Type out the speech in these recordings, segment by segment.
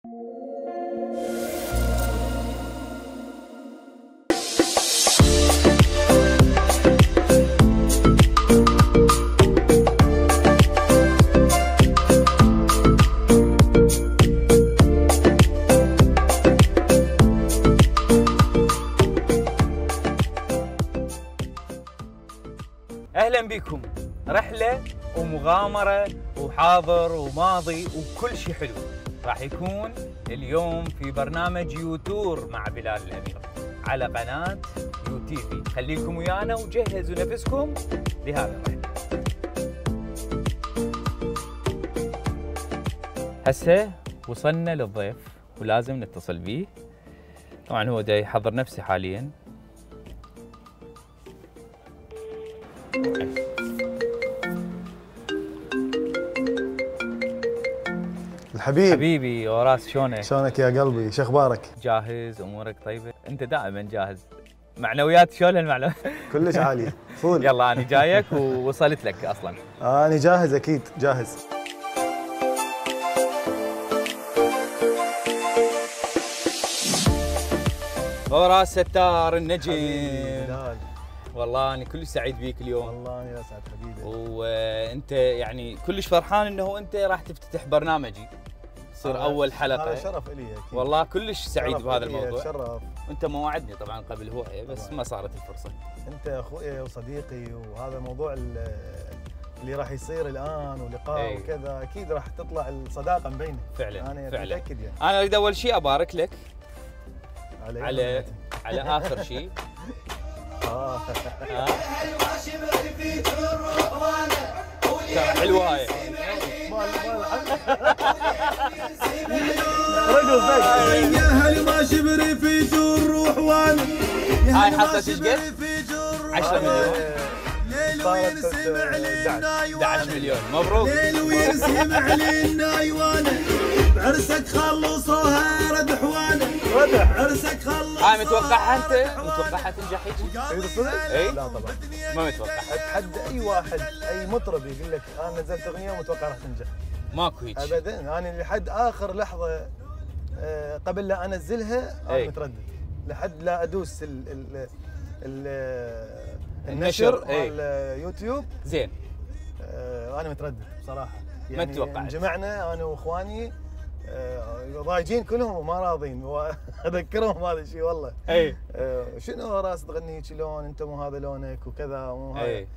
اهلا بكم. رحله ومغامره وحاضر وماضي وكل شيء حلو راح يكون اليوم في برنامج يوتور مع بلال الامير على قناه يو تي في. خليكم ويانا وجهزوا نفسكم لهذا الرحله. هسه وصلنا للضيف ولازم نتصل به. طبعا هو دا يحضر نفسه حاليا. الحبيب حبيبي اوراس، شلونك؟ شلونك يا قلبي؟ شو اخبارك؟ جاهز؟ امورك طيبه؟ انت دائما جاهز. معنويات شلون المعنويات؟ كلش عاليه فول. يلا انا جايك ووصلت لك اصلا. انا جاهز اكيد جاهز. اوراس ستار النجم. بلال والله انا كلش سعيد بيك اليوم. والله انا اسعد حبيبي. وانت يعني كلش فرحان انه انت راح تفتتح برنامجي، تصير اول حلقه. هذا شرف لي اكيد. والله كلش سعيد بهذا الموضوع. شرف. انت ما وعدني طبعا قبل هوايه بس ما صارت الفرصه. انت اخوي وصديقي، وهذا الموضوع اللي راح يصير الان ولقاء وكذا اكيد راح تطلع الصداقه مبينه. فعلا انا فعلا متاكد يعني. انا اريد اول شيء ابارك لك على اخر شيء. حلوه هاي. يا هل ما شبري في جور روح وانا. هاي حطت ايش قد؟ 10 مليون. ليل وينسمع لنا 11 مليون. مبروك. ليل وينسمع لنا يوانا. بعرسك خلصوها ردح وانا. ردح. عرسك خلصوها. هاي متوقعها انت؟ متوقعها تنجح هيك؟ اي لا طبعا ما متوقع. اتحدى اي واحد اي مطرب يقول لك انا نزلت اغنيه ومتوقع راح تنجح. ماكو هيك ابدا. انا لحد اخر لحظه قبل لا انزلها انا متردد، لحد لا ادوس النشر مال يوتيوب. زين. انا متردد بصراحه. يعني ما تتوقع. جمعنا انا واخواني ضايجين كلهم وما راضين، واذكرهم هذا الشيء والله. اي شنو راس تغني شلون انت مو هذا لونك وكذا، مو هاي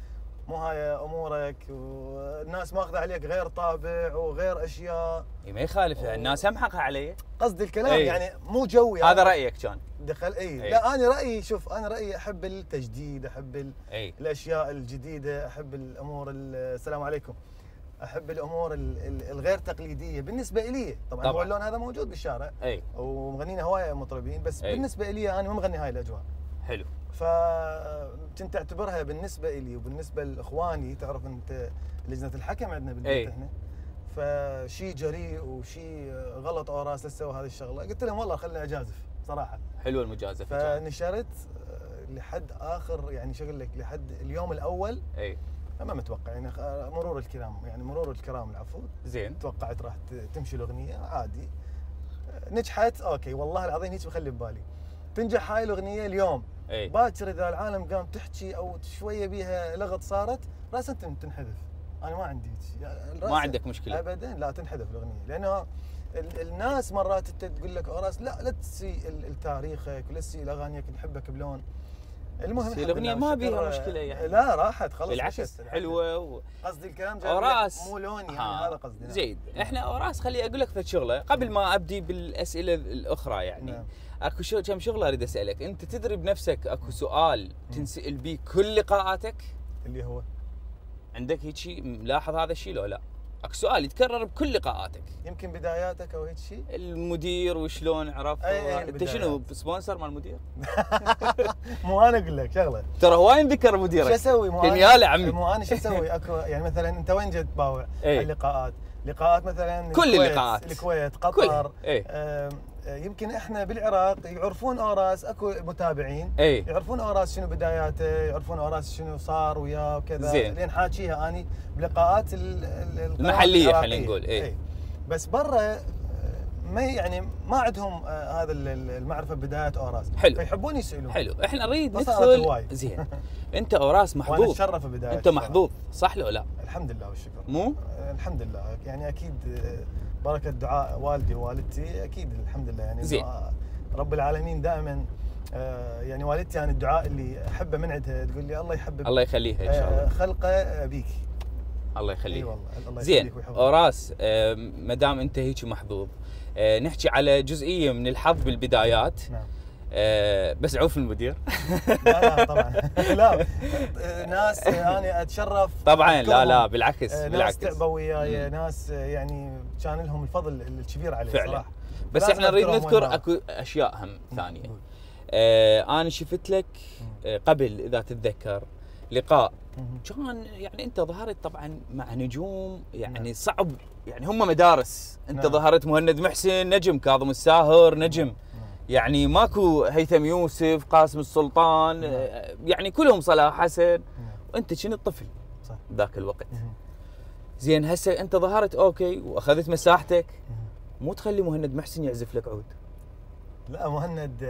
مو هاي امورك، والناس ماخذه عليك غير طابع وغير اشياء. ما يخالف الناس هم حقها علي. قصدي الكلام يعني مو جوي. هذا رايك كان دخل. لا انا رايي، شوف انا رايي احب التجديد، احب الاشياء الجديده، احب الامور السلام عليكم، احب الامور الغير تقليديه بالنسبه لي. طبعا هو اللون هذا موجود بالشارع ومغنينا هوايه مطربين، بس بالنسبه لي انا ما مغني هاي الاجواء. حلو. فكنت اعتبرها بالنسبه لي وبالنسبه لاخواني، تعرف انت لجنه الحكم عندنا بالبيت احنا، فشيء جريء وشيء غلط اوراس لا تسوي هذه الشغله. قلت لهم والله خلينا اجازف صراحه. حلوه المجازفه. فنشرت لحد اخر يعني شو اقول لك، لحد اليوم الاول. ما متوقع يعني مرور الكرام، يعني مرور الكرام العفو. زين. توقعت راح تمشي الاغنيه عادي، نجحت اوكي والله العظيم هيك مخلي ببالي تنجح هاي الاغنيه اليوم. باكر اذا العالم قام تحكي او شويه بيها لغط صارت راسا تنحذف. انا ما عندي ما عندك مشكله ابدا. لا تنحذف الاغنيه، لانه الناس مرات تقول لك اوراس لا تسي تاريخك ولا تسي اغانيك نحبك بلون. المهم الاغنيه ما بيها مشكله يعني. لا راحت خلاص. بالعكس حلوه قصدي الكلام اوراس مو لوني يعني. هذا قصدي. زين. احنا اوراس خلي اقول لك فد شغله قبل ما ابدي بالاسئله الاخرى يعني. اكو كم شغله اريد اسالك. انت تدري بنفسك اكو سؤال تنسال بيه كل لقاءاتك اللي هو عندك هيك شيء ملاحظ هذا الشيء لو لا؟ اكو سؤال يتكرر بكل لقاءاتك. يمكن بداياتك او هيك شيء. المدير وشلون عرف؟ انت شنو سبونسر مال المدير؟ مو انا اقول لك شغله. ترى هواي ذكر مديرك. شو اسوي؟ يا عمي مو انا شو اسوي؟ اكو يعني مثلا انت وين جيت تباوع؟ اللقاءات مثلا كل اللقاءات الكويت قطر. يمكن احنا بالعراق يعرفون اوراس، اكو متابعين يعرفون اوراس شنو بداياته، يعرفون اوراس شنو صار وياه وكذا. لين حاكيها اني بلقاءات المحليه خلينا نقول. بس برا ما يعني ما عندهم هذا المعرفه بدايه اوراس. حلو. فيحبون يسالون. حلو، احنا نريد ندخل. زين. انت اوراس محظوظ. وانا اتشرف بدايه. انت محظوظ صح لو لا؟ الحمد لله والشكر. مو؟ الحمد لله، يعني اكيد بركه دعاء والدي ووالدتي، اكيد الحمد لله يعني. زين. رب العالمين دائما يعني والدتي انا الدعاء اللي احبه من عندها تقول لي الله يحبب الله يخليها ان شاء الله خلقه بيك. الله يخليك. اي والله الله زين اوراس، ما دام انت هيك محظوظ، نحكي على جزئيه من الحظ بالبدايات. نعم. بس عوف المدير. لا طبعا لا، ناس انا اتشرف طبعا. لا بالعكس ناس تعبوا وياي، ناس يعني كان لهم الفضل الكبير علي فعلا صراحه. بس احنا نريد نذكر اكو اشياء هم ثانيه. انا شفت لك قبل اذا تتذكر لقاء كان يعني انت ظهرت طبعا مع نجوم يعني صعب، يعني هم مدارس. انت ظهرت مهند محسن نجم، كاظم الساهر نجم، يعني ماكو هيثم يوسف، قاسم السلطان، يعني كلهم صلاح حسن، وانت كنت طفل صح ذاك الوقت. زين هسه انت ظهرت اوكي واخذت مساحتك، مو تخلي مهند محسن يعزف لك عود؟ لا مهند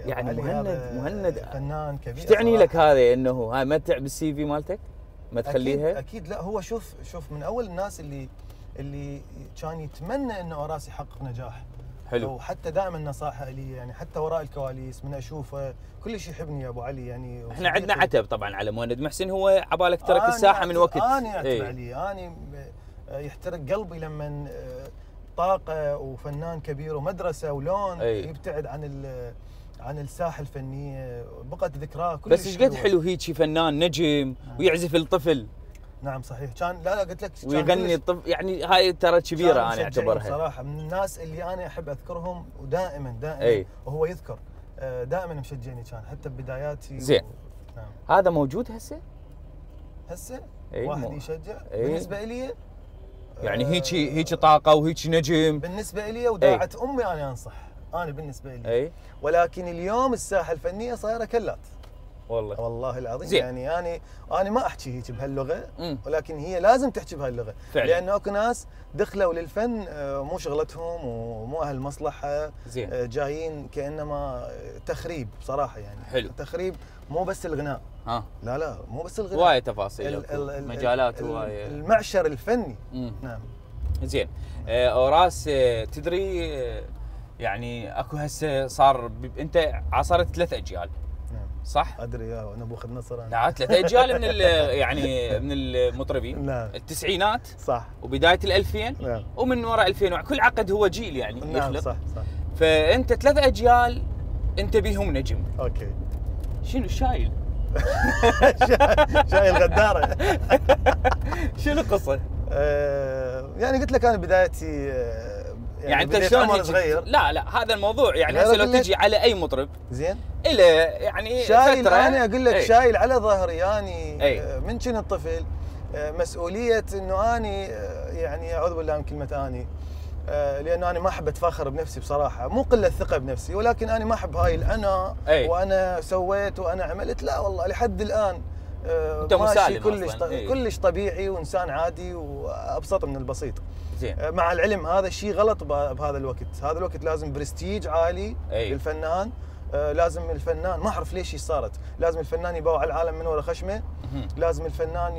يعني مهند فنان كبير. ايش تعني لك هذا انه هاي متع بالسي في مالتك؟ ما تخليها؟ أكيد لا، هو شوف من اول الناس اللي كان يتمنى انه اوراس يحقق نجاح. حلو. وحتى دائما نصائحه لي يعني حتى وراء الكواليس من اشوفه كل شيء يحبني يا ابو علي يعني. احنا عندنا عتب طبعا على مهند محسن، هو عبالك ترك الساحه من وقت. انا اعتب عليه، انا يحترق قلبي لما طاقه وفنان كبير ومدرسه ولون يبتعد عن الساحه الفنيه، بقت ذكراه كل بس ايش قد حلو هيك فنان نجم ويعزف الطفل. نعم صحيح، كان لا قلت لك ويغني الطفل، يعني هاي ترى كبيره انا اعتبرها صراحه من الناس اللي انا احب اذكرهم ودائما وهو يذكر دائما مشجعني كان حتى ببداياتي. زين. نعم. هذا موجود هسه واحد يشجع بالنسبه لي يعني هيك طاقه وهيك نجم بالنسبه لي وداعت امي. انا انصح انا بالنسبه لي ولكن اليوم الساحه الفنيه صايره كلات والله العظيم. زين. يعني انا ما احكي هيك بهاللغه، ولكن هي لازم تحكي بهاللغه فعلا. لانه اكو ناس دخلوا للفن مو شغلتهم ومو اهل مصلحه. زين. جايين كانما تخريب بصراحه يعني. حلو. تخريب مو بس الغناء. لا مو بس الغناء، وايد تفاصيل مجالات هوايه المعشر الفني. نعم. زين. اوراس تدري يعني اكو هسه صار انت عاصرت 3 اجيال صح؟ ادري يا نبوخذ نصر. لا 3 اجيال من يعني من المطربين. نعم. التسعينات صح وبدايه ال2000. نعم. ومن وراء 2000 كل عقد هو جيل يعني. نعم يخلق. صح. فانت 3 اجيال انت بيهم نجم. اوكي. شنو شايل؟ شايل غداره. شنو القصه؟ يعني قلت لك انا بدايتي يعني انت شلون صغير. لا هذا الموضوع يعني هسه لو تجي على اي مطرب زين الى يعني شايل فترة انا اقول لك شايل على ظهري يعني من كنت طفل مسؤوليه انه اني يعني اعوذ بالله من كلمه اني لانه انا ما احب اتفاخر بنفسي بصراحه، مو قله ثقه بنفسي، ولكن انا ما احب هاي الانا وانا سويت وانا عملت. لا والله لحد الان انت مسالم كلش طبيعي وانسان عادي وابسط من البسيط. زين. مع العلم هذا الشيء غلط بهذا الوقت، هذا الوقت لازم برستيج عالي للفنان. لازم الفنان ما اعرف ليش صارت، لازم الفنان يباوع على العالم من وراء خشمه، لازم الفنان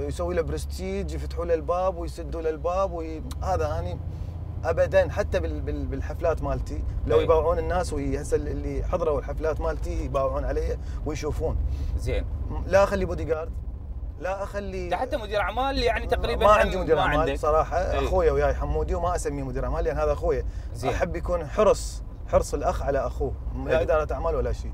يسوي له برستيج، يفتحوا له الباب ويسدوا له الباب هذا اني ابدا. حتى بالحفلات مالتي لو يباوعون الناس هسه اللي حضروا الحفلات مالتي يباوعون علي ويشوفون. زين. لا اخلي بودي جارد، لا اخلي حتى مدير اعمال يعني تقريبا ما عندي مدير اعمال صراحه. اخويا وياي حمودي وما اسميه مدير اعمال لان هذا اخويا. احب يكون حرص الاخ على اخوه، لا اداره اعمال ولا شيء.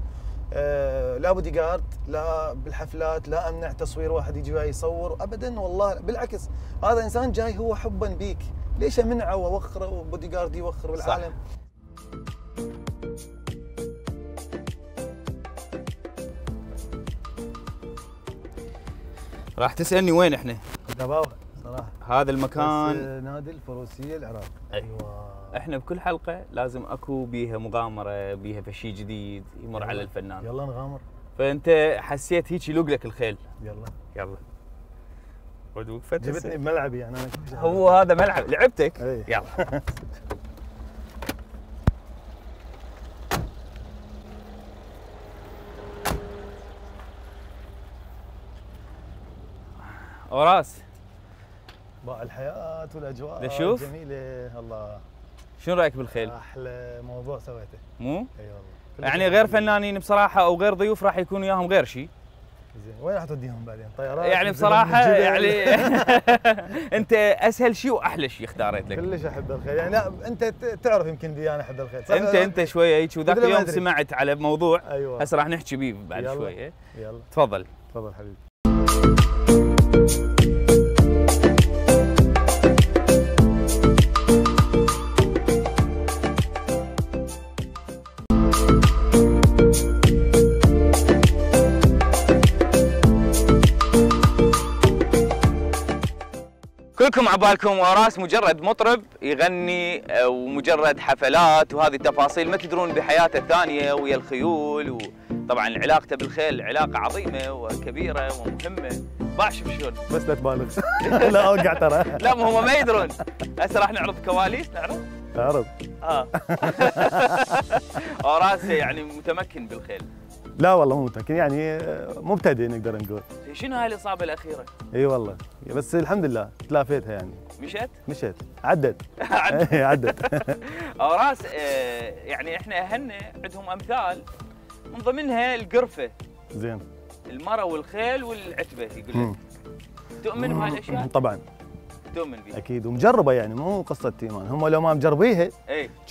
لا بودي جارد، لا بالحفلات، لا امنع تصوير واحد يجي وياي يصور ابدا والله. بالعكس هذا انسان جاي هو حبا بيك، ليش امنعه واوخره وبودي جارد يوخر بالعالم؟ راح تسالني وين احنا؟ دباوة صراحه. هذا المكان نادي الفروسيه العراق. ايوه. احنا بكل حلقه لازم اكو بيها مغامره، بيها شيء جديد يمر على الفنان. يلا نغامر. فانت حسيت هيك يلوق لك الخيل. يلا جبتني بملعبي يعني انا هو هذا ملعب لعبتك. يلا. وراس باع الحياه والاجواء نشوف جميله. الله، شنو رايك بالخيل؟ احلى موضوع سويته. مو؟ اي والله. يعني غير فنانين بصراحه او غير ضيوف راح يكون وياهم غير شيء. زين، وين راح توديهم بعدين؟ طيارات؟ يعني بصراحه يعني انت اسهل شيء واحلى شيء اختاريت لك. كلش احب الخيل، يعني لا انت تعرف يمكن بي انا احب الخيل. انت شويه هيك، وذاك اليوم سمعت على موضوع. ايوه هسه راح نحكي بيه بعد يلا. شويه. يلا تفضل. تفضل حبيبي. كلكم عبالكم وراس مجرد مطرب يغني ومجرد حفلات وهذه التفاصيل، ما تدرون بحياته الثانيه ويا الخيول، وطبعا علاقته بالخيل علاقه عظيمه وكبيره ومهمه. شوف شلون. بس لا تبالغ. لا اوقع ترى. لا هم ما يدرون. هسه راح نعرض كواليس. اعرض. وراس يعني متمكن بالخيل. لا والله مو متمكن، يعني مبتدئ نقدر نقول. شنو هاي الاصابه الاخيره؟ اي والله، بس الحمد لله تلافيتها يعني. مشت عدت. عدت. وراس يعني احنا اهلنا عندهم امثال من ضمنها القرفه. زين. المرة والخيل والعتبه يقول لك. تؤمن بهاي الاشياء؟ طبعا. تؤمن بيها؟ اكيد، ومجربه يعني، مو قصه ايمان، هم لو ما مجربيها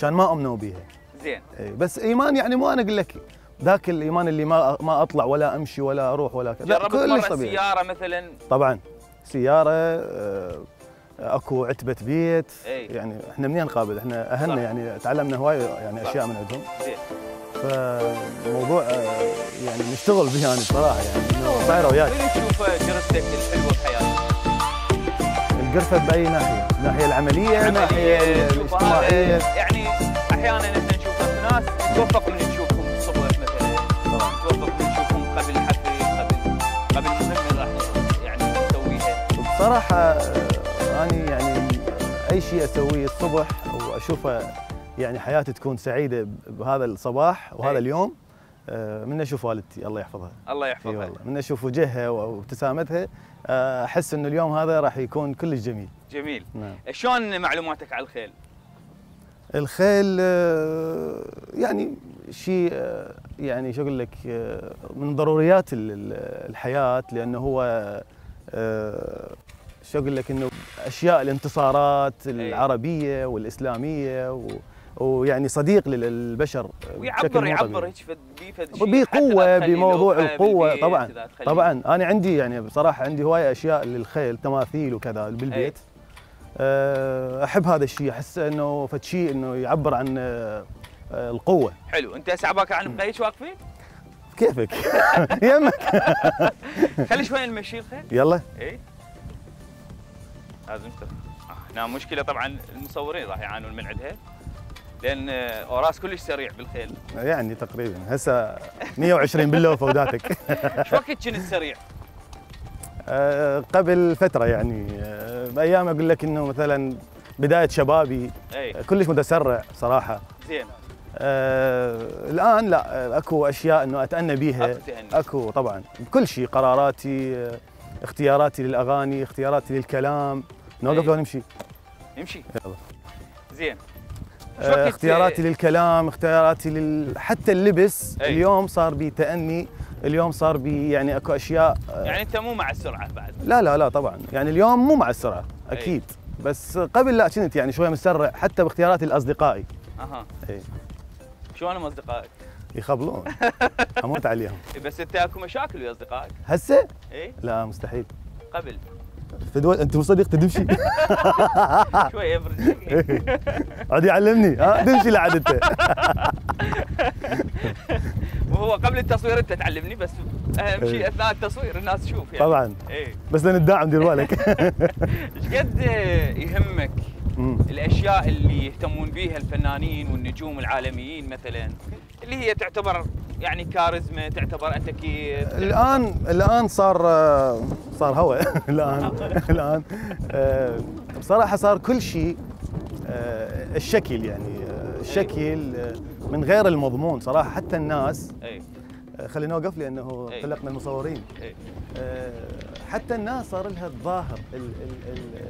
كان ما امنوا بيها. زين. بس ايمان يعني مو انا اقول لك ذاك الايمان اللي ما اطلع ولا امشي ولا اروح ولا كذا. جربت مرة سيارة مثلا؟ طبعا سيارة، اكو عتبة بيت. يعني احنا منين نقابل؟ احنا اهلنا يعني تعلمنا هواي يعني اشياء من عندهم. زين. فموضوع يعني نشتغل به يعني بصراحة، يعني انه صايرة وياك. وين تشوف جرستك الحلوة بحياتك؟ القرفة بأي ناحية؟ الناحية العملية، الناحية الاجتماعية. يعني احيانا احنا نشوف ناس نتوفق من نشوفهم الصبح مثلا. طبعا. نتوفق من نشوفهم قبل حفل، قبل مهمة راح يعني نسويها. بصراحة أنا يعني أي شيء أسويه الصبح وأشوفه يعني حياتي تكون سعيدة بهذا الصباح وهذا اليوم، من أشوف والدتي الله يحفظها. الله يحفظها. والله من أشوف وجهها وابتسامتها أحس إنه اليوم هذا راح يكون كلش جميل. جميل. نعم. شلون معلوماتك على الخيل؟ الخيل يعني شيء يعني شو أقول لك، من ضروريات الحياة، لأنه هو شو أقول لك إنه أشياء الانتصارات العربية والإسلامية ويعني صديق للبشر. ويعبر هيك بقوة بموضوع القوة. طبعا أنا عندي يعني بصراحة عندي هواية أشياء للخيل، تماثيل وكذا بالبيت. أحب هذا الشيء، أحس إنه فد شيء إنه يعبر عن القوة. حلو. أنت هسه عباك عن بقيش واقفين؟ كيفك؟ يمك. خلي شوي نمشي الخيل. يلا. لازم هنا مشكلة طبعا المصورين راح يعانون من عندها، لأن وراس كلش سريع بالخيل. يعني تقريبا هسه 120 باللوفة وداتك. شو وقت كنت سريع؟ قبل فترة يعني بأيام أقول لك إنه مثلا بداية شبابي كلش متسرع صراحة. زين. الآن لا، أكو أشياء إنه أتأنى بيها. أكو طبعا بكل شيء، قراراتي، اختياراتي للأغاني، اختياراتي للكلام. نوقف لو نمشي؟ نمشي. يلا. زين. اختياراتي للكلام، اختياراتي حتى اللبس. اليوم صار بي تأني، اليوم صار بي يعني اكو اشياء. يعني انت مو مع السرعه بعد؟ لا طبعا، يعني اليوم مو مع السرعه اكيد. بس قبل لا كنت يعني شويه مسرع حتى باختياراتي لاصدقائي. شلونهم اصدقائك؟ يخبلون. اموت عليهم. بس انت اكو مشاكل ويا اصدقائك؟ هسه؟ لا مستحيل. قبل فدوى انت مو صديق تمشي. شوي افرج. عاد يعلمني تمشي لعد انت. وهو قبل التصوير انت تعلمني، بس اهم شيء اثناء التصوير الناس تشوف يعني. طبعا. بس لنداعم دير بالك. ايش قد يهمك الاشياء اللي يهتمون بيها الفنانين والنجوم العالميين مثلا، اللي هي تعتبر يعني كاريزما، تعتبر انت كي الان صار هوا. الان بصراحه صار كل شيء الشكل، يعني الشكل من غير المضمون صراحه. حتى الناس خلينا نوقف لانه طلقنا المصورين. حتى الناس صار لها الظاهر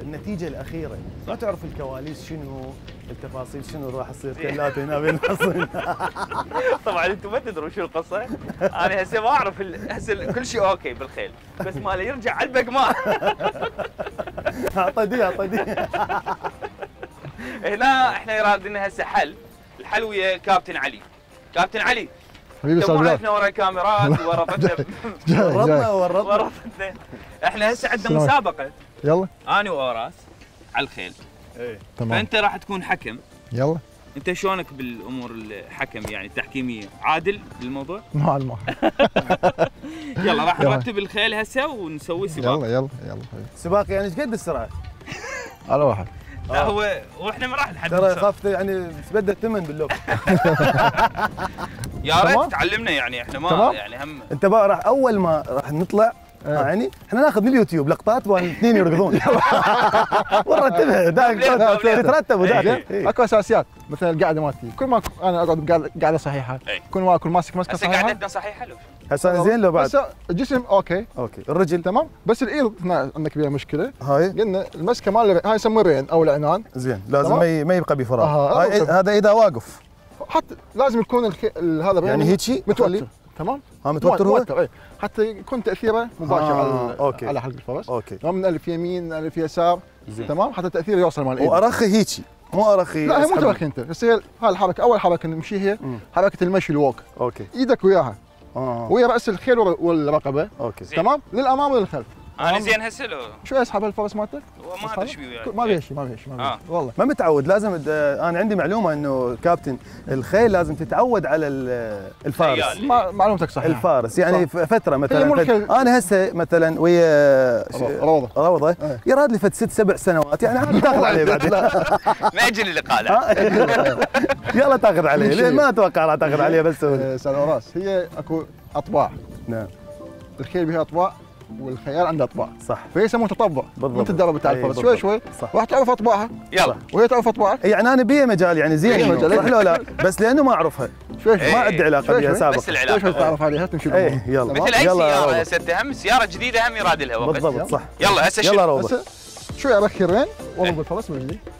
النتيجه الاخيره، ما تعرف الكواليس شنو، التفاصيل شنو راح يصير كلات هنا بين الحصين. طبعا انتم ما تدرون شو القصه، انا هسه ما اعرف هسه كل شيء اوكي بالخيل، بس ماله يرجع علبق ماء. اعطدي هنا احنا رادين هسه الحل ويا كابتن علي. كابتن علي حبيبي استاذ بلال، وقفنا ورا الكاميرات وورطتنا ورطتنا. احنا هسه عندنا مسابقه، يلا انا واوراس على الخيل. ايه تمام، فانت راح تكون حكم. يلا. انت شلونك بالامور الحكم يعني التحكيميه؟ عادل بالموضوع؟ مع الماء. يلا راح نرتب الخيل هسه ونسوي سباق. يلا حبيبي. سباق يعني ايش قد السرعه؟ على واحد. لا واحنا ما راح نحدد. ترى خافت يعني تبدل الثمن باللوك. يا ريت تعلمنا يعني احنا ما يعني هم. انت بقى راح اول ما راح نطلع يعني احنا ناخذ من اليوتيوب لقطات والاثنين يركضون. ونرتبها تترتب زين. اكو اساسيات مثل القاعده مالتي، كل ما انا اقعد قاعده صحيحه، كل ما اكون ماسكه هسه صحيحه. قاعدتنا صحيحه لو هسه زين لو بعد. هسه الجسم اوكي الرجل تمام، بس الايد هنا عندك بيها مشكله. هاي قلنا المسكه مال هاي يسموه الرين او العنان. زين لازم ما يبقى بفراغ. هذا اذا واقف حتى لازم يكون هذا يعني هيك متوتر. تمام، متوتر هو؟ اي حتى يكون تاثيره مباشر على حلق الفرس. اوكي ما من الف يمين الف يسار. تمام، حتى تاثيره يوصل مال الايد. وارخي هيك مو ارخي. لا هي مو ترخي انت، بس هي هاي الحركه اول حركه نمشي هي حركه المشي الووك. اوكي ايدك وياها ويا راس الخيل والرقبه. اوكي تمام، للامام وللخلف. انا زين هسه لو شوي اسحب الفرس مالتك. ما ادري ايش بيه ما بيها شيء والله ما متعود. لازم انا عندي معلومه انه كابتن الخيل لازم تتعود على الفارس. معلومتك صحيحه. الفارس يعني صح. فتره مثلا انا هسه مثلا ويا روضه يراد لي فد 6-7 سنوات يعني عاد تاخذ عليه بعدين. ما يجي لي لقاء. يلا تاخذ عليه لين ما اتوقع راح تاخذ عليه. بس استاذ اوراس هي اكو اطباع. نعم الخيل بها اطباع والخيال عنده اطباع. صح. فهي يسموه تطبع. بالضبط. وانت تدرب بتاع الفرس شوي شوي راح تعرف اطباعها. يلا وهي تعرف اطباعك. يعني انا بيه مجال يعني زين صح لو لا، بس لانه ما اعرفها شوي ما عندي علاقه بها سابقا. بس العلاقه شوي تعرف عليها تمشي. يلا مثل اي سياره هسه هم سياره جديده هم يراد لها وقت. بالضبط صح. يلا هسه يلا روضه شوي ارخي الرين واضرب الفرس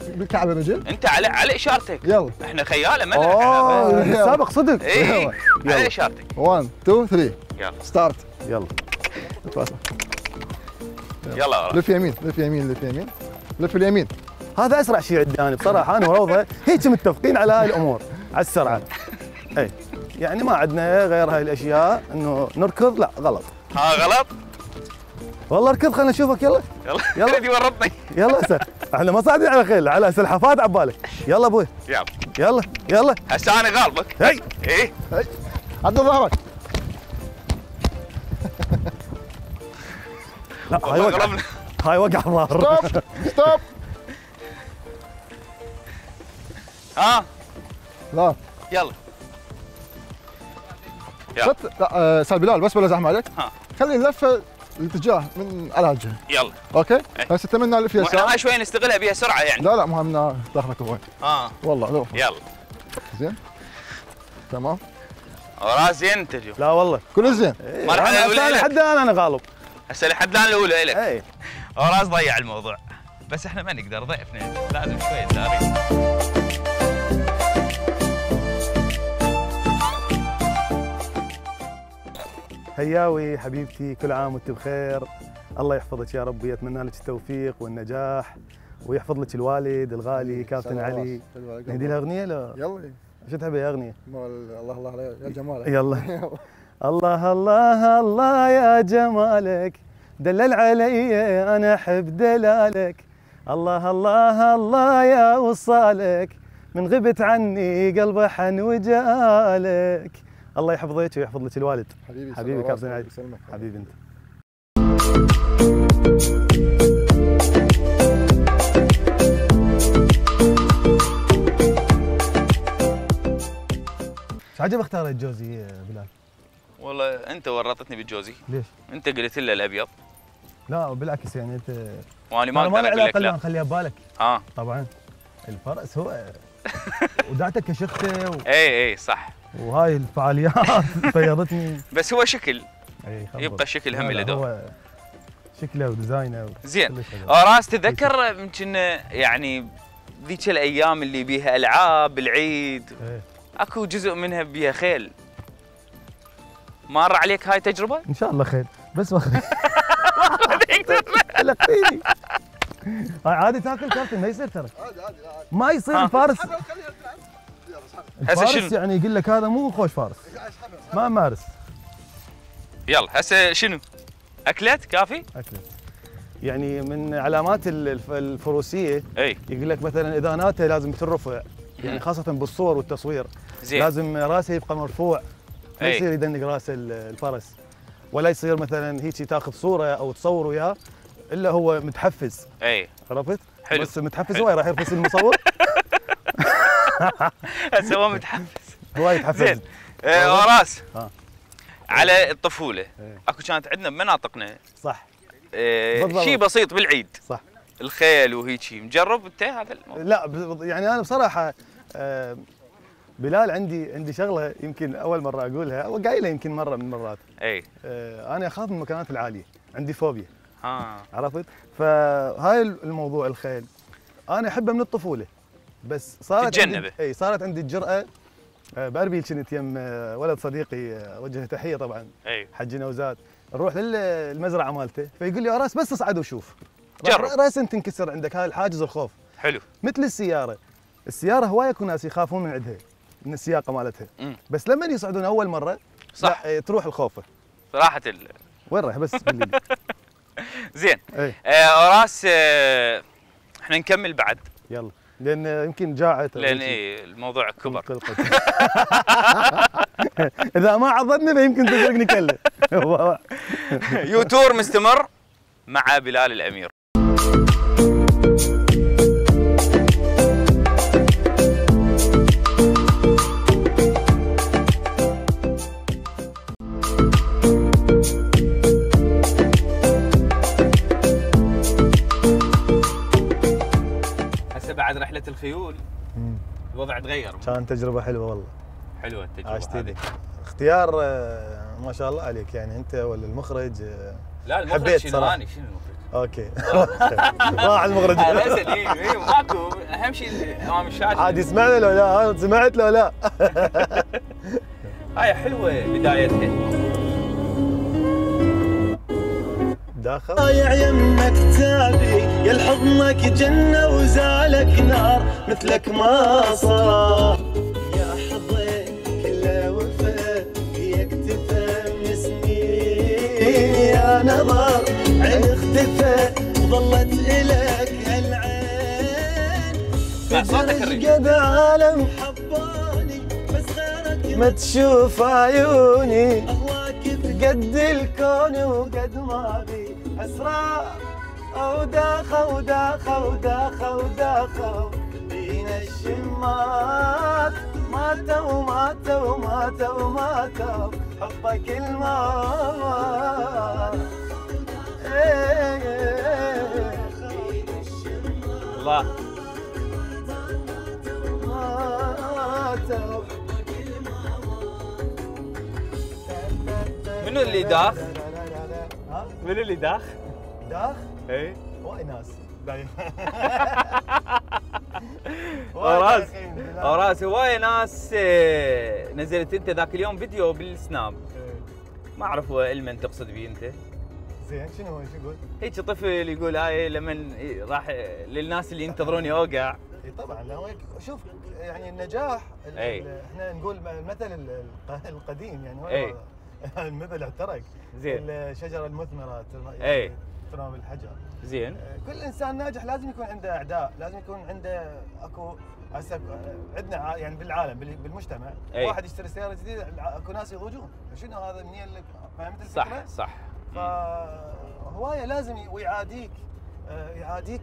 بالكعب الرجل. انت على اشارتك. يلا احنا خياله ما سابق صدق. اي على اشارتك. 1 2 3 يلا ستارت. يلا يلا لف يمين لف يمين لف يمين لف اليمين. هذا اسرع شيء عندنا بصراحه انا وروضه هيك متفقين على هاي الامور على السرعه. اي يعني ما عندنا غير هاي الاشياء انه نركض لا غلط. غلط والله اركض خلينا نشوفك. يلا يلا يلا ورطني. يلا هسه احنا ما صاعدين على خيل على سلحفات عبالك. يلا ابوي يلا هسه انا غالبك. هي عدل ظهرك. لا هاي وقع ظهر. ستوب لا يلا لا استاذ بلال بس بلا زحمه عليك. خلي اللفه الاتجاه من على الجهه. يلا اوكي هسه تمنى الف يسار. احنا هاي شوي نستغلها بها سرعه يعني. لا ما همنا داخلك وين. والله لو يلا زين تمام. وراس زين انت اليوم. لا والله كل زين. مرحله الاولى لحد انا غالب. هسه لحد الان الاولى لك. اي وراس ضيع الموضوع بس احنا ما نقدر ضيفنا لازم شوي نداري. هياوي حبيبتي كل عام وانت بخير. الله يحفظك يا رب ويتمنى لك التوفيق والنجاح ويحفظ لك الوالد الغالي كابتن علي. نهدي له اغنيه لا؟ يلا شو تحب يا اغنيه؟ الله الله عليك يا جمالك. يلا الله الله الله يا جمالك دلل علي انا احب دلالك. الله الله الله يا وصالك من غبت عني قلبي حن وجالك. الله يحفظك ويحفظ لك الوالد. حبيبي كابتن علي. حبيبي انت. ايش عجب اختارت جوزي يا بلال؟ والله انت ورطتني بالجوزي. ليش؟ انت قلت له الابيض. لا بالعكس يعني انت وانا ما اقدر اقول لك لا. نخليها ببالك. طبعا الفرس هو ودعتك كشخته اي صح. وهاي الفعاليات فيضتني. بس هو شكل يبقى الشكل هم له دور. شكله وديزاينه زين. راس تذكر يمكن يعني ذيك الايام اللي بيها العاب العيد اكو جزء منها بيها خيل، مر عليك هاي التجربه؟ ان شاء الله خير، بس لقيني هاي عادي تاكل كابتن، ما يصير ترى، ما يصير الفارس. الفارس يعني يقول لك هذا مو خوش فارس، ما مارس. يلا هسه شنو؟ اكلت كافي؟ اكلت يعني من علامات الفروسيه. اي يقول لك مثلا اذا ناته لازم ترفع، يعني خاصه بالصور والتصوير. زين. لازم راسه يبقى مرفوع، ما يصير يدنق راس الفرس، ولا يصير مثلا هيك تاخذ صوره او تصور وياه الا هو متحفز. اي عرفت؟ حلو. بس متحفز هواي راح يرفس المصور. هسه هو متحفز هواي يتحفز. زين. راس على الطفوله اكو كانت عندنا بمناطقنا صح شيء بسيط بالعيد، صح، الخيل وهيجي، مجرب انت هذا الموضوع؟ لا يعني انا بصراحه بلال عندي شغله يمكن اول مره اقولها وقايلها يمكن مره من المرات. اي انا اخاف من المكانات العاليه، عندي فوبيا. عرفت؟ فهاي الموضوع الخيل انا احبه من الطفوله، بس صارت تتجنبه. صارت عندي الجرأه. باربيل كنت يم ولد صديقي، اوجه تحيه طبعا، حجي نوزاد، نروح للمزرعه مالته، فيقول لي يا راس بس اصعد وشوف، جرب راسا تنكسر عندك هاي الحاجز الخوف. حلو. مثل السياره هوايه اكو ناس يخافون من عندها، من السياقه مالتها، بس لما يصعدون اول مره صح تروح الخوفه صراحه. وين رايح بس قول لي. زين. راس احنا نكمل بعد، يلا، لان يمكن جاعت، لان الموضوع كبر. اذا ما عضتني فيمكن تسرقني كله. يوتور مستمر مع بلال الامير. هسه بعد رحله الخيول الوضع تغير. كانت تجربه حلوه والله. حلوه التجربه عشت ايدك. اختيار ما شاء الله عليك، يعني انت ولا المخرج؟ لا المخرج شنو؟ اني شنو المخرج؟ اوكي. راح المخرج. لا اسال ماكو، اهم شيء امام الشاشه. عاد يسمعنا لو لا؟ سمعت لو لا؟ هاي حلوه بدايتها. داخل ضايع يمك تابي يا لحضنك جنه وزالك نار، مثلك ما صار يا حظك كله وفا فيك تفهم من سنين، يا نظر عين اختفى ظلت الك هالعين، فجرج قد عالم حباني بس غيرك ما تشوف عيوني، اهواك قد الكون وقد ما بي اسرار، وداخه وداخه وداخه وداخه بين الشمات، ماتوا ماتوا ماتوا ماتوا حبك الماء. الله ماتوا. منو اللي داخ؟ منو اللي داخ؟ داخ؟ اي وايد ناس باين. راس هواي ناس. نزلت انت ذاك اليوم فيديو بالسناب، ما اعرف لمن تقصد به انت. زين شنو هو؟ شو يقول؟ هيك طفل يقول هاي لمن راح للناس اللي ينتظروني اوقع. اي طبعا، لا شوف يعني النجاح احنا نقول المثل القديم، يعني هو المثل احترق. زين. الشجره المثمره ترمى بالحجر. زين. كل انسان ناجح لازم يكون عنده اعداء، لازم يكون عنده اكو هسه عندنا يعني بالعالم بالمجتمع واحد يشتري سياره جديده اكو ناس يضوجون، شنو هذا منين لك؟ فهمت الفكره؟ صح. فهوايه لازم ويعاديك، يعاديك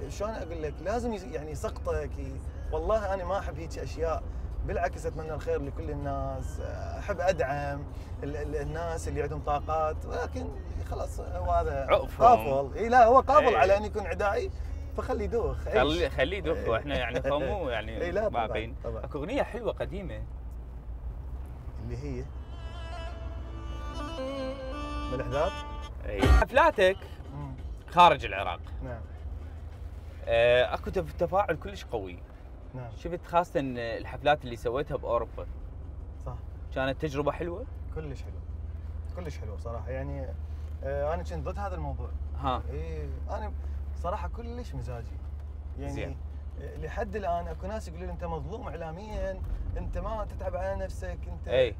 شلون اقول لك، لازم يعني يسقطك. والله انا ما احب هيك اشياء، بالعكس اتمنى الخير لكل الناس، احب ادعم الناس اللي عندهم طاقات، ولكن خلاص هو هذا قافل. اي لا هو قابل على ان يكون عدائي، فخليه يدوخ. خليه يدوخ. واحنا يعني مو يعني باقين. اكو اغنيه حلوه قديمه اللي هي من الاحداث. حفلاتك خارج العراق. نعم. اكو تفاعل كلش قوي. نعم. شفت خاصه الحفلات اللي سويتها باوروبا. صح. كانت تجربه حلوه؟ كلش حلو. كلش حلو صراحه يعني. انا كنت ضد هذا الموضوع. ها. انا صراحه كلش مزاجي. يعني زين. لحد الان اكو ناس يقولوا لي انت مظلوم اعلاميا، انت ما تتعب على نفسك، انت اي.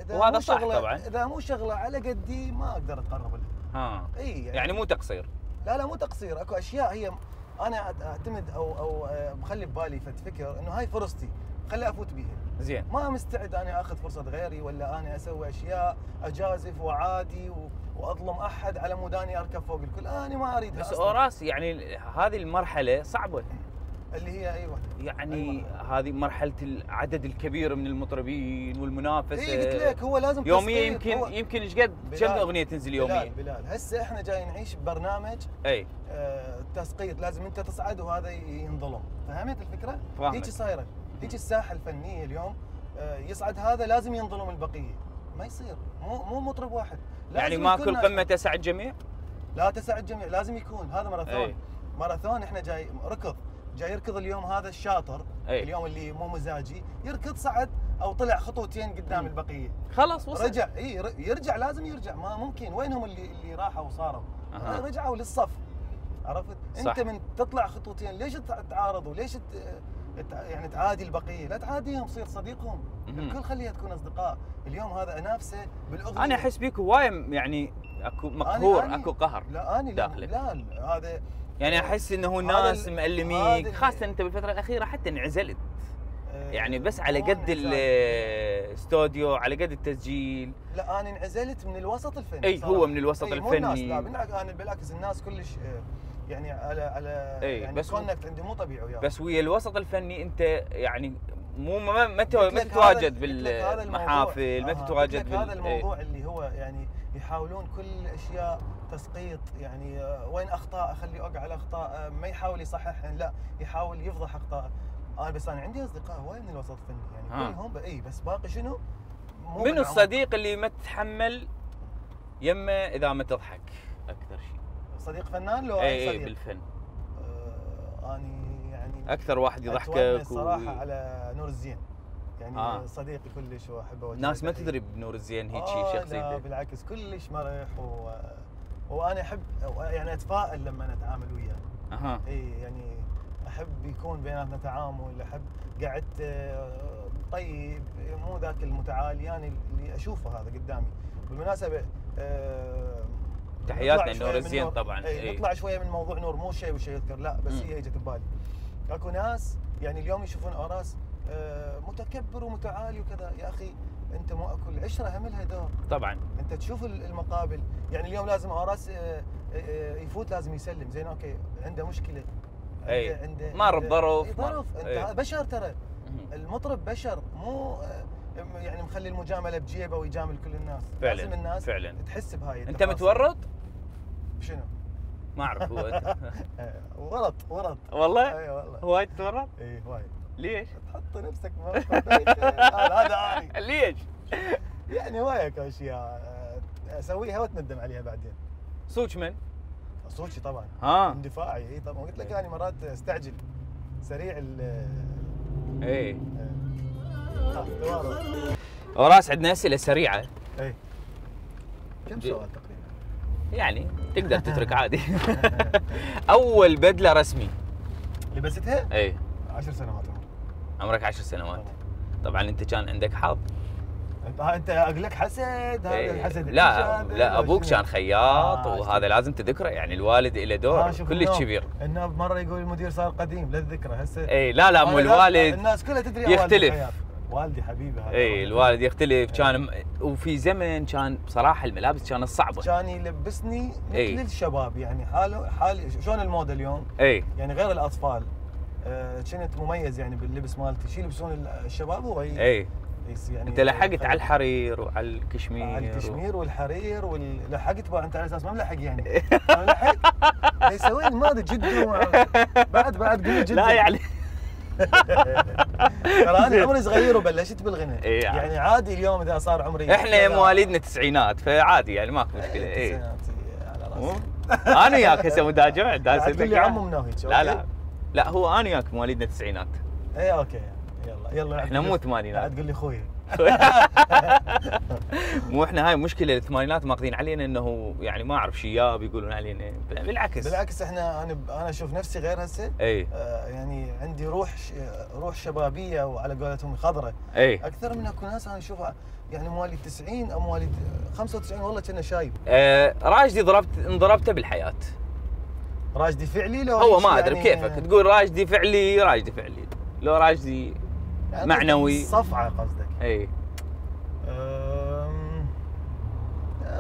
وهذا صح طبعا. اذا مو شغله على قدي ما اقدر اتقرب لها. ها. اي يعني مو تقصير. لا مو تقصير، اكو اشياء هي انا اعتمد او مخلي ببالي فكر انه هاي فرصتي خلي افوت بيها. زين. ما مستعد انا اخذ فرصه غيري ولا انا اسوي اشياء اجازف وعادي واظلم احد على مود اني اركب فوق الكل، انا ما اريد. بس اوراس يعني هذه المرحله صعبه. اللي هي ايوه يعني هذه مرحله العدد الكبير من المطربين والمنافسه. اي قلت لك هو لازم يوميا يمكن ايش قد كم اغنيه تنزل يوميا؟ بلال هسه احنا جاي نعيش ببرنامج اي تسقيط، لازم انت تصعد وهذا ينظلم، فهمت الفكره؟ فاهمك. هيك صايره، هيك الساحه الفنيه اليوم يصعد هذا لازم ينظلم البقيه، ما يصير، مو مطرب واحد. يعني ما كل قمه تسع الجميع؟ لا تسع الجميع، لازم يكون هذا ماراثون. ماراثون احنا جاي ركض، جاي يركض اليوم هذا الشاطر. اليوم اللي مو مزاجي يركض صعد او طلع خطوتين قدام البقيه، خلاص وصل. رجع يرجع، لازم يرجع، ما ممكن. وينهم اللي راحوا وصاروا؟ رجعوا للصف، عرفت؟ صح. انت من تطلع خطوتين ليش تعارض وليش يعني تعادي البقيه؟ لا تعاديهم، صير صديقهم. الكل خليها تكون اصدقاء. اليوم هذا انافسه بالاغنيه. انا احس بيك هوايه يعني اكو مقهور، اكو قهر. لا انا داخلك. لا هذا يعني احس انه ناس مألميك، خاصه انت بالفتره الاخيره حتى انعزلت. يعني بس على قد الاستوديو، على قد التسجيل. لا انا انعزلت من الوسط الفني. اي هو من الوسط الفني. مو الناس، لا بالعكس الناس كلش يعني على يعني بس كونكت عندي مو طبيعي وياه. بس ويا الوسط الفني انت يعني مو ما تتواجد بالمحافل، ما تتواجد هذا الموضوع اللي هو يعني يحاولون كل الاشياء تسقيط، يعني وين اخطاء اخليه اوقع على اخطاء، ما يحاول يصححن، لا يحاول يفضح اخطاء. بس انا عندي اصدقاء هواي من الوسط الفني يعني كلهم بس باقي شنو؟ من الصديق اللي ما تتحمل يمه اذا ما تضحك اكثر شيء؟ صديق فنان لو اي صديق بالفن؟ اني يعني اكثر واحد يضحكك الصراحه على نور الزين يعني صديقي كلش واحبه. ناس ما تدري بنور الزين هيك شخصيته. لا بالعكس كلش مرح وانا احب يعني اتفائل لما اتعامل وياه. يعني احب يكون بيناتنا تعامل، احب قعدت طيب، مو ذاك المتعالي يعني اللي اشوفه هذا قدامي. بالمناسبه تحياتنا لنور الزين طبعا. نطلع شويه من موضوع نور، مو شيء وشيء يذكر، لا بس هي اجت ببالي. اكو ناس يعني اليوم يشوفون اوراس متكبر ومتعالي وكذا، يا اخي انت مو اكو العشره هم لها دور طبعا. انت تشوف المقابل، يعني اليوم لازم اوراس يفوت لازم يسلم، زين اوكي عنده مشكله، عنده مر بظرف، انت بشر، ترى المطرب بشر، مو يعني مخلي المجامله بجيبه ويجامل كل الناس. فعلا. لازم الناس فعلا تحس بهاي. انت متورط؟ بشنو؟ ما اعرف. هو ورط والله؟ اي والله. هواي تتورط؟ اي هواي. ليش؟ تحط نفسك هذا اني. ليش؟ يعني هوايك اشياء اسويها واتندم عليها بعدين. صوت من؟ صوتي طبعا. اندفاعي. اي طبعا، قلت لك يعني مرات استعجل سريع اوراس عندنا اسئله سريعه. كم سؤال تقريبا؟ يعني تقدر تترك عادي. اول بدله رسمي لبستها؟ 10 سنوات عمرك 10 سنوات. طبعا انت كان عندك حظ. انت اقول لك حسد، هذا الحسد. لا ابوك كان خياط وهذا لازم تذكره، يعني الوالد له دور كلش كبير. النوب مره يقول المدير صار قديم للذكرى هسه. لا مو الوالد الناس كلها تدري يختلف. والدي حبيبي هذا. الوالد يختلف. كان وفي زمن كان بصراحه الملابس كانت صعبه، كان يلبسني مثل الشباب، يعني حالي شلون الموضه اليوم. يعني غير الاطفال كنت مميز يعني باللبس مالتي، شو يلبسون الشباب هو يعني انت لحقت على الحرير وعلى الكشمير. على الكشمير والحرير لحقت بقى انت على اساس ما ملحق يعني. لحق يسوي ما ادري جد بعد قول جد. لا يعني ترى انا عمري صغير وبلشت بالغنى. يعني عادي اليوم اذا صار عمري. احنا مواليدنا التسعينات فعادي يعني ماكو مشكله. على راسي. انا وياك هسه مداجع تقول لي عمو مناهيك. لا هو انا وياك مواليدنا التسعينات. اي اوكي يلا احنا مو ثمانينات. قاعد تقول لي اخوي. مو احنا هاي مشكله الثمانينات ماخذين علينا انه يعني ما اعرف شياب يقولون علينا. بالعكس احنا انا اشوف نفسي غير هسه. يعني عندي روح شبابيه وعلى قولتهم خضراء. اكثر من اكو ناس انا اشوفها يعني مواليد 90 او مواليد 95 والله كنا شايب. راشدي انضربته بالحياه. راشدي فعلي لو هو ما ادري يعني كيفك تقول راشدي فعلي لو راشدي يعني معنوي صفعه قصدك. اي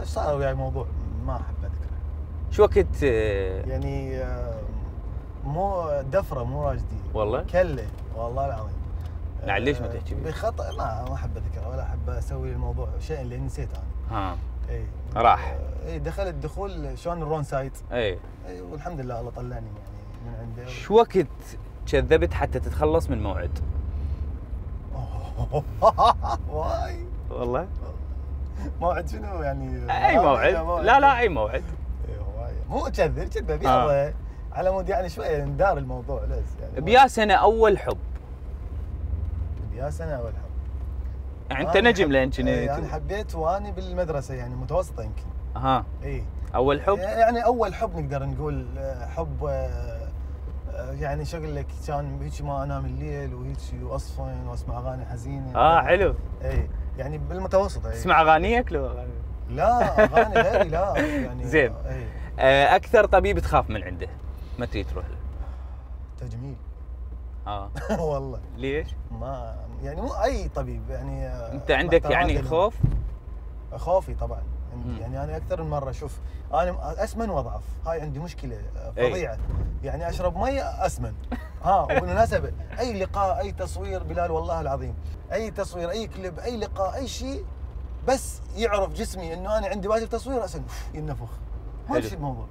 صار وياي موضوع ما احب اذكره. شو وقت يعني مو دفره مو راشدي والله كله والله العظيم. ليش ما تحكي بيه؟ بخطا ما احب اذكره ولا احب اسوي الموضوع شيء اللي نسيت انا. اي راح دخلت دخول شلون الرون سايت. اي والحمد لله الله طلعني يعني من عنده. شو وقت كذبت حتى تتخلص من موعد؟ واي والله موعد شنو يعني؟ اي موعد. لا اي موعد. مو كذب يلا على مود يعني شويه ندار الموضوع ليش يعني. بيا سنه اول حب. يعني انت نجم لين كنت. يعني حبيت واني بالمدرسه يعني متوسطه يمكن. اي اول حب يعني اول حب نقدر نقول حب يعني شو اقول لك كان هيك ما انام الليل وهيك واصفن واسمع اغاني حزينه. حلو. اي يعني بالمتوسط. تسمع اغانيك لو اغاني؟ لا اغاني غيري لا يعني. زين. اكثر طبيب تخاف من عنده ما تريد تروح له؟ تجميل. والله. ليش؟ ما يعني مو اي طبيب يعني. انت عندك يعني خوف؟ خوفي طبعا عندي. يعني انا اكثر من مره شوف انا اسمن واضعف. هاي عندي مشكله فظيعه. يعني اشرب ميه اسمن. وبالمناسبه اي لقاء اي تصوير بلال والله العظيم اي تصوير اي كليب اي لقاء اي شيء بس يعرف جسمي انه انا عندي واجب تصوير اسن ينفخ. ما في الموضوع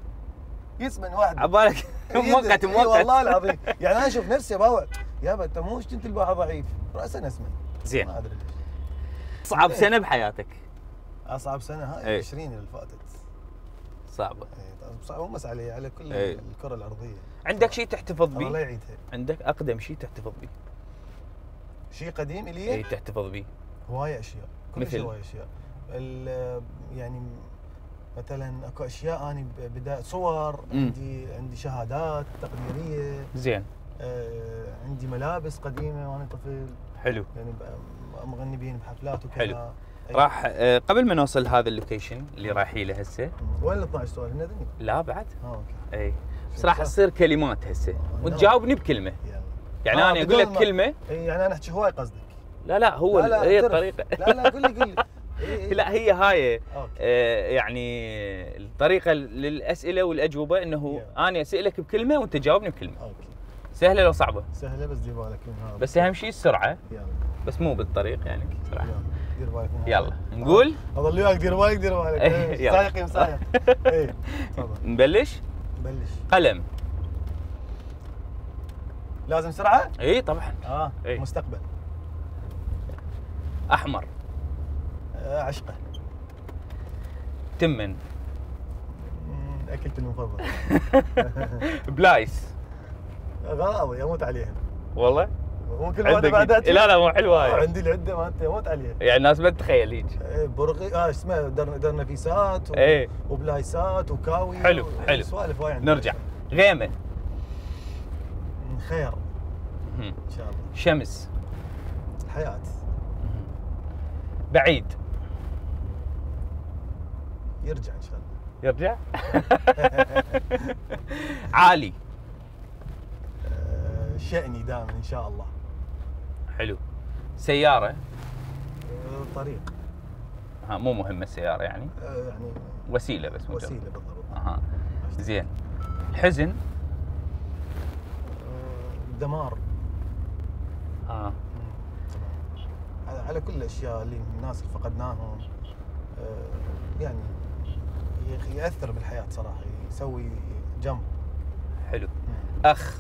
يسمن واحد عبالك مؤقت والله العظيم. يعني انا اشوف نفسي باوع يابا انت مو كنت الباحه ضعيف راسا اسمن. زين. ما ادري ليش. اصعب سنه بحياتك؟ اصعب سنه هاي 20 اللي فاتت. صعبه. صعبه بس على كل الكره الارضيه. عندك شيء تحتفظ به؟ الله يعيدها. عندك اقدم شيء تحتفظ به؟ شيء قديم الي؟ تحتفظ به. هوايه اشياء. مثل هوايه اشياء. يعني مثلا اكو اشياء اني بدايه صور. عندي شهادات تقديريه. زين. عندي ملابس قديمه وانا طفل. حلو. يعني مغني بين بحفلات وكذا. حلو. راح قبل ما نوصل هذا اللوكيشن اللي رايحين له هسه. وين ال 12 سؤال هنا ذني؟ لا بعد. اوكي. بس راح تصير كلمات هسه وتجاوبني بكلمه. يعني انا اقول لك كلمه. يعني انا احكي هواي قصدك؟ لا هي الطريقه. لا قول لي. لا هي هاي يعني الطريقه للاسئله والاجوبه انه انا اسالك بكلمه وانت تجاوبني بكلمه. اوكي. سهله لو صعبه؟ سهله بس دير بالك منها. بس اهم شيء السرعه. يلا. بس مو بالطريق يعني سرعه. دير بالك منها. يلا نقول. اظل وياك دير بالك. سايق مسايق. تفضل. نبلش. قلم. لازم سرعه؟ طبعا. مستقبل. احمر. عشقه. تمن. اكلتي المفضل. بلايس. غراضي اموت عليهم. والله؟ مو كل واحده بعدها. لا مو حلوه هاي. عندي العده مالتي اموت عليها. يعني الناس ما تتخيل هيك. برغي اسمه درنفيسات وبلايسات وكاوي. حلو. سوالف وايد. نرجع. غيمه. خير. ان شاء الله. شمس. حياه. بعيد. يرجع ان شاء الله. يرجع. عالي. شأني دائما ان شاء الله. حلو. سيارة. طريق. مو مهمة السيارة يعني. يعني وسيلة بس. وسيلة بالضبط. زين. الحزن. دمار. على كل الاشياء اللي الناس اللي فقدناهم. يعني يأثر بالحياة صراحة يسوي جنب. حلو. أخ.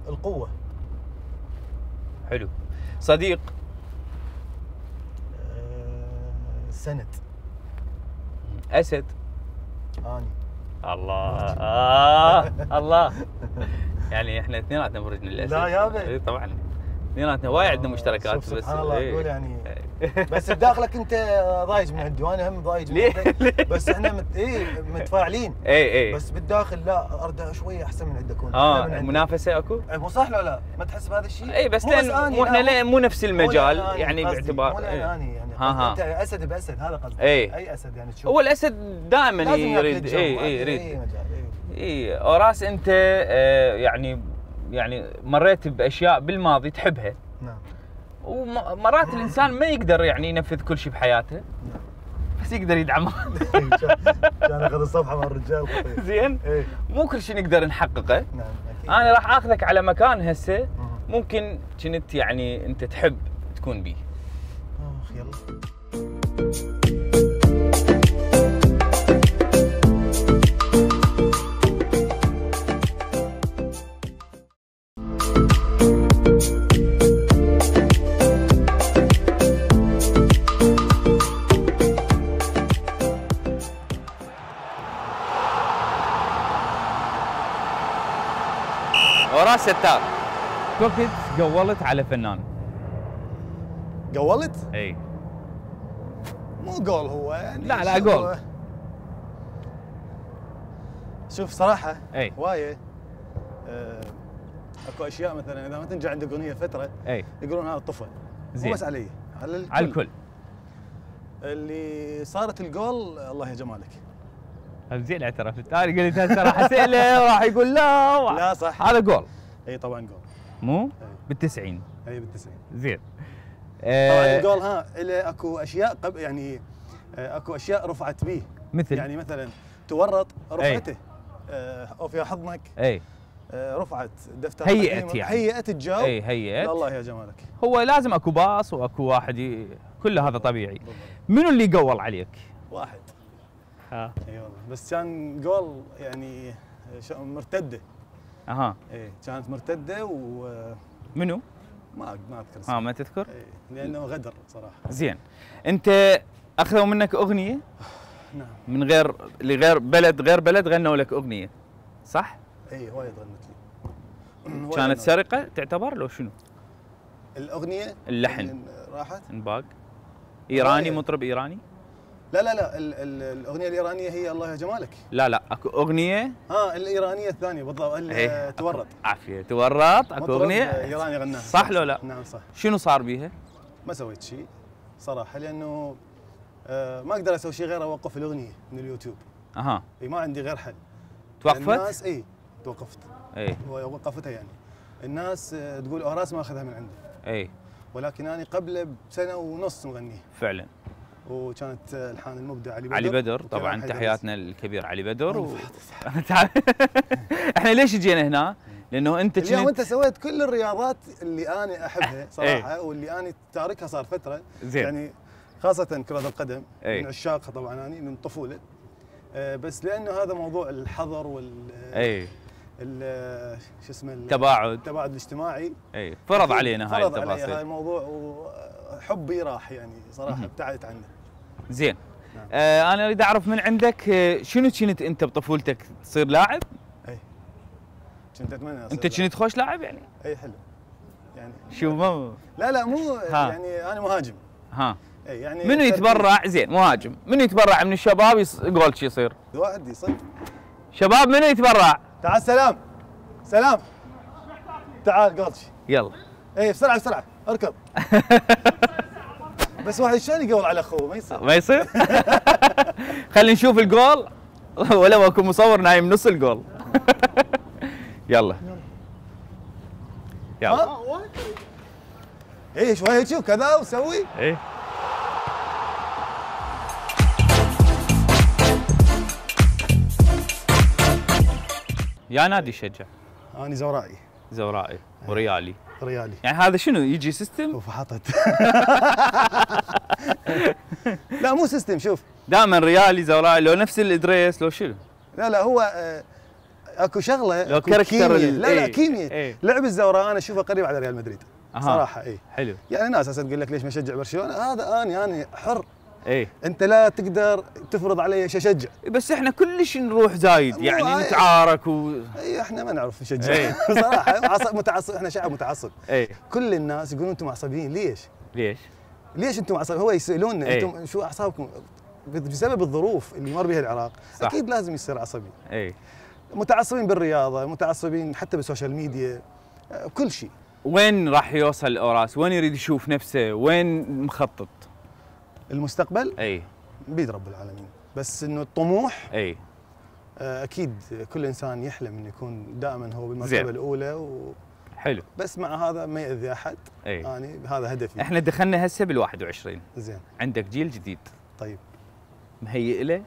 القوة. حلو. صديق. سند. اسد. اني الله الله. يعني احنا اثنيناتنا برجنا الاسد. لا يابا. اي طبعا اثنيناتنا وايد عندنا مشتركات. بس سبحان الله اقول يعني بس بداخلك انت ضايج من عندي وانا هم ضايج من ليه؟ عندك. بس احنا متفاعلين. اي بس بالداخل لا ارد شويه احسن من عندك. منافسه اكو؟ مو صح لا ما تحس بهذا الشيء؟ اي بس لان مو احنا مو نفس المجال يعني باعتبار. مو اني يعني انت اسد باسد هذا قصدي. اي اسد يعني تشوف. هو الاسد دائما يريد. يريد. اي اوراس انت يعني مريت باشياء بالماضي تحبها. نعم. ومرات الانسان ما يقدر يعني ينفذ كل شيء بحياته. بس يقدر يدعمها. كان اخذ الصفحه مع الرجال خطير. زين. مو كل شيء نقدر نحققه. نعم اكيد. انا راح اخذك على مكان هسه ممكن كنت يعني انت تحب تكون بيه. يلا. اوراس ستار. وقت قولت على فنان. قولت؟ اي. مو قول هو يعني. لا قول. شوف صراحه اي هوايه اكو اشياء مثلا اذا ما تنجح عندك اغنيه فتره اي يقولون هذا طفل. زين. مو بس علي على الكل. اللي صارت الجول الله يا جمالك. زين اعترفت. انا قلت هسه راح اساله وراح يقول لا صح. هذا جول. اي طبعا جول. مو؟ بال90. اي بال90. زين. طبعا الجول اكو اشياء يعني اكو اشياء رفعت به. مثل يعني مثلا تورط رفعته. او في حضنك. اي. رفعت دفتر. هيئت يعني. هيئت الجو. اي هيئت. الله يا جمالك. هو لازم اكو باص واكو واحد كله هذا طبيعي. منو اللي قول عليك؟ واحد. ها. اي والله بس كان جول يعني مرتده. اها. اي كانت مرتده منو؟ ما اذكر اسمه. ما تذكر؟ لانه غدر صراحه. زين. انت اخذوا منك اغنيه؟ نعم. من غير بلد غنوا لك اغنيه. صح؟ اي وايد غنت لي. كانت سرقه تعتبر لو شنو؟ الاغنيه اللحن راحت؟ انباق. ايراني مطرب ايراني؟ لا الاغنيه الايرانيه هي الله يا جمالك. لا اكو اغنيه. الايرانيه الثانيه بالضبط. تورط. عافيه تورط. اكو اغنيه ايراني غناها. صح لو لا؟ نعم صح. شنو صار بيها؟ ما سويت شيء صراحه لانه ما اقدر اسوي شيء غير اوقف الاغنيه من اليوتيوب. اها. ما عندي غير حل. توقفت؟ الناس توقفت. وقفتها يعني. الناس تقول اوراس ما اخذها من عنده. ولكن انا قبله بسنه ونص مغنيه. فعلا. وكانت الحان المبدع علي بدر طبعا تحياتنا الكبير علي بدر. احنا ليش جينا هنا؟ لانه انت اليوم انت سويت كل الرياضات اللي انا احبها صراحه واللي انا تاركها صار فتره. زين. يعني خاصه كره القدم من عشاقها طبعا انا من الطفوله. بس لانه هذا موضوع الحظر وال شو اسمه التباعد الاجتماعي فرض علينا هاي التفاصيل. فرض علي هاي الموضوع وحبي راح يعني صراحه ابتعدت عنه. زين. نعم. انا اريد اعرف من عندك شنو كنت انت بطفولتك تصير لاعب؟ كنت اتمنى انت كنت خوش لاعب يعني؟ حلو يعني. شو ما لا مو يعني انا مهاجم. يعني منو يتبرع؟ زين مهاجم. منو يتبرع من الشباب جول شي يصير؟ واحد يصير. شباب منو يتبرع؟ تعال سلام تعال جول شي. يلا. بسرعه اركض. بس واحد شلون يقول على اخوه؟ ما يصير. خلينا نشوف الجول ولا اكو مصور نايم نص الجول. يلا. شوي شوف كذا وسوي. يا نادي شجع. انا زورائي وريالي. يعني هذا شنو يجي سيستم؟ وفحطت. لا مو سيستم. شوف دائما ريالي زورائي لو نفس الادريس لو شنو؟ لا هو اكو شغله لو كاركتر. لا كيمياء. لعب الزوراء انا اشوفه قريب على ريال مدريد. صراحه حلو. يعني ناس هسه تقول لك ليش ما اشجع برشلونه؟ هذا انا حر. اي انت لا تقدر تفرض علي ايش اشجع. بس احنا كلش نروح زايد يعني نتعارك اي احنا ما نعرف نشجع صراحه متعصب، احنا شعب متعصب. كل الناس يقولون انتم معصبين، ليش انتم معصبين؟ هو يسالوننا انتم شو اعصابكم؟ بسبب الظروف اللي مر بها العراق صح. اكيد لازم يصير عصبي. متعصبين بالرياضه، متعصبين حتى بالسوشيال ميديا، كل شيء. وين راح يوصل اوراس؟ وين يريد يشوف نفسه؟ وين مخطط؟ المستقبل بيد رب العالمين، بس انه الطموح اكيد كل انسان يحلم انه يكون دائما هو بالمرتبه الاولى حلو، بس مع هذا ما يأذي احد. يعني هذا هدفي. احنا دخلنا هسه بال21، زين، عندك جيل جديد. طيب مهيئ له؟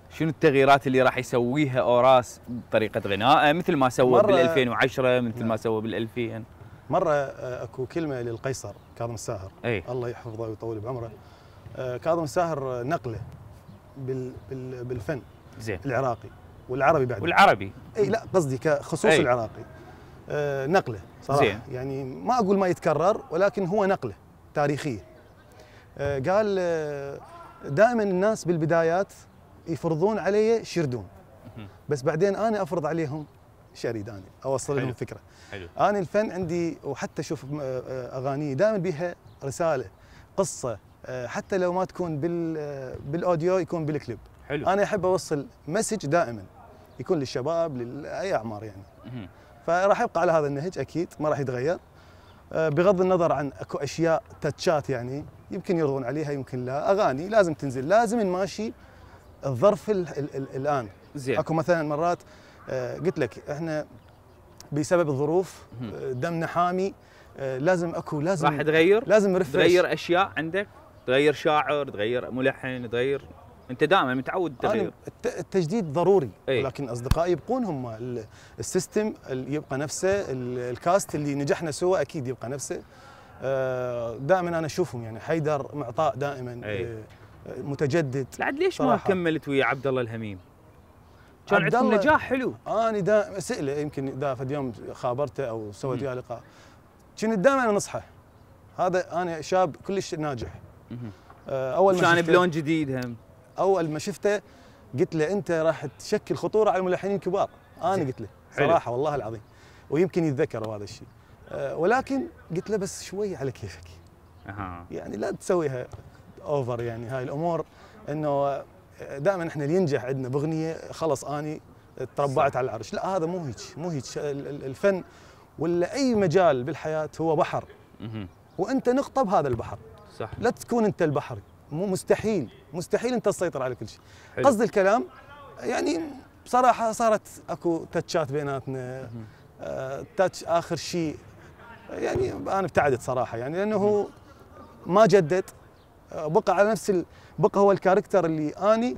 شنو التغييرات اللي راح يسويها اوراس بطريقه غنائه مثل ما سوى بال2010 مثل ما سوى بال2000؟ مره اكو كلمه للقيصر كاظم الساهر الله يحفظه ويطول بعمره. كاظم الساهر نقله بالفن زين العراقي والعربي بعد. والعربي لا قصدي كخصوص العراقي نقله صراحه زين. يعني ما اقول ما يتكرر، ولكن هو نقله تاريخيه. قال دائما الناس بالبدايات يفرضون علي شردون، بس بعدين انا افرض عليهم شريد، انا اوصل لهم فكره. حلو. انا الفن عندي، وحتى شوف اغاني دائما بها رساله، قصه، حتى لو ما تكون بالاوديو يكون بالكليب. حلو. انا احب اوصل مسج دائما يكون للشباب لاي اعمار يعني. فراح يبقى على هذا النهج اكيد، ما راح يتغير، بغض النظر عن اكو اشياء تاتشات يعني يمكن يرضون عليها يمكن لا. اغاني لازم تنزل، لازم نماشي الظرف الان. زين. اكو مثلا مرات قلت لك احنا بسبب الظروف دمنا حامي، لازم راح تغير، لازم ريفرش، تغير اشياء عندك، تغير شاعر، تغير ملحن، تغير. انت دائما متعود تغير. التجديد ضروري. ولكن اصدقائي يبقون هم السيستم اللي يبقى نفسه، الكاست اللي نجحنا سوا اكيد يبقى نفسه. دائما انا اشوفهم يعني حيدر معطاء دائما متجدد. لعد ليش ما كملت ويا عبد الله الهميم؟ كان عندكم نجاح حلو. انا دائما اساله، يمكن فد يوم خابرته او سويت وياه لقاء، كنت دائما انصحه، هذا انا شاب كلش ناجح. اول ما كان بلون جديد هم. اول ما شفته قلت له انت راح تشكل خطوره على الملحنين الكبار، انا قلت له صراحه والله العظيم، ويمكن يتذكر هذا الشيء. ولكن قلت له بس شوي على كيفك. يعني لا تسويها اوفر، يعني هاي الامور انه دائما احنا اللي ينجح عندنا باغنيه خلص اني تربعت على العرش، لا هذا مو هيك. الفن ولا اي مجال بالحياه هو بحر، وانت نقطه بهذا البحر. صح. لا تكون انت البحر، مو مستحيل انت تسيطر على كل شيء. قصد الكلام يعني بصراحه صارت اكو تاتشات بيناتنا، تاتش اخر شيء يعني انا ابتعدت صراحه يعني، لانه ما جدد، بقى على نفس بقى هو الكاركتر اللي اني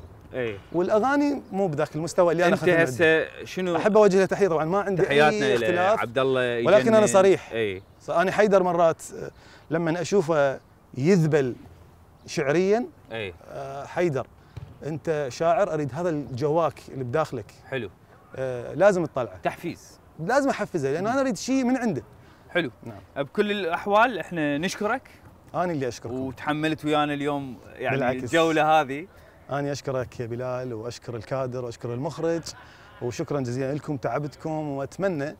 والاغاني مو بذاك المستوى اللي انا انت هسه شنو. احب اوجه له تحيه، طبعا ما عندي اي اختلاف عبد الله، ولكن انا صريح. انا حيدر مرات لما اشوفه يذبل شعريا، حيدر انت شاعر، اريد هذا الجواك اللي بداخلك حلو، لازم تطلعه، تحفيز، لازم احفزه لانه انا اريد شيء من عنده. حلو. نعم. بكل الاحوال احنا نشكرك. انا اللي اشكركم، وتحملت ويانا اليوم يعني بالعكس. الجوله هذه. انا اشكرك يا بلال، واشكر الكادر، واشكر المخرج، وشكرا جزيلا لكم، تعبتكم، واتمنى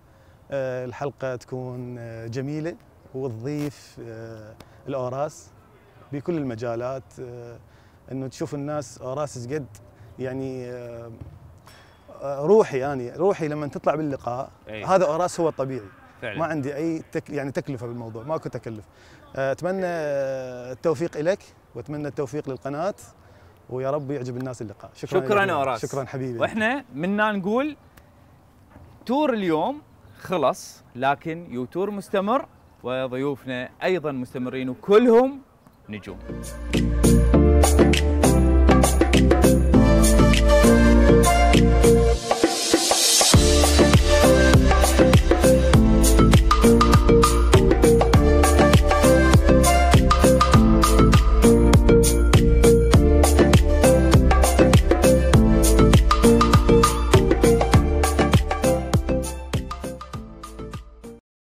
الحلقه تكون جميله وتضيف الاوراس بكل المجالات، انه تشوف الناس اوراس قد يعني روحي لما تطلع باللقاء هذا اوراس هو الطبيعي فعلا. ما عندي اي يعني تكلفه بالموضوع، ماكو تكلف. اتمنى التوفيق لك، واتمنى التوفيق للقناه، ويا رب يعجب الناس اللقاء. شكرا اوراس. شكرا حبيبي. واحنا منا نقول تور اليوم خلص، لكن يوتور مستمر، وضيوفنا ايضا مستمرين وكلهم نجوم.